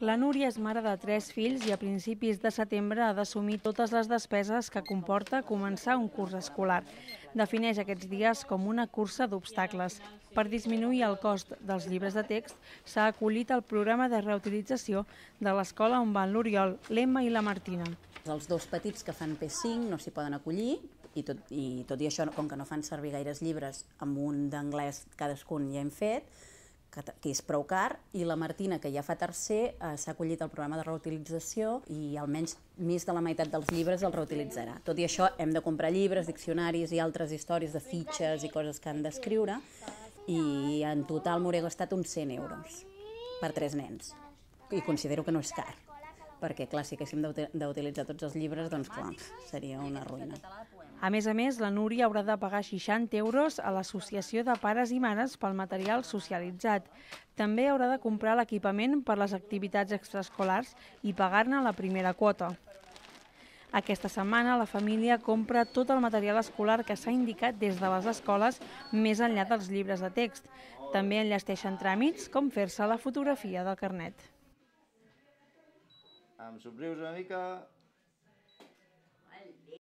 La Núria és mare de 3 fills i a principis de setembre ha d'assumir totes les despeses que comporta començar un curs escolar. Defineix aquests dies com una cursa d'obstacles. Per disminuir el cost dels llibres de text, s'ha acollit al programa de reutilització de l'escola on van l'Oriol, l'Emma i la Martina. Els 2 petits que fan P5 no s'hi poden acollir i tot i això, com que no fan servir gaires llibres, amb un d'anglès cadascun ja hem fet, que és prou car, i la Martina, que ja fa tercer, s'ha acollit al programa de reutilització i almenys més de la meitat dels llibres els reutilitzarà. Tot i això, hem de comprar llibres, diccionaris i altres històries de fitxes i coses que han d'escriure, i en total m'hauré gastat uns 100 euros per 3 nens. I considero que no és car, perquè clar, si haguéssim d'utilitzar tots els llibres, doncs clar, seria una ruïna. A més, la Núria haurà de pagar 60 euros a l'Associació de Pares i Mares pel material socialitzat. També haurà de comprar l'equipament per les activitats extraescolars i pagar-ne la primera quota. Aquesta setmana la família compra tot el material escolar que s'ha indicat des de les escoles més enllà dels llibres de text. També enllesteixen tràmits com fer-se la fotografia del carnet. Em somrius una mica...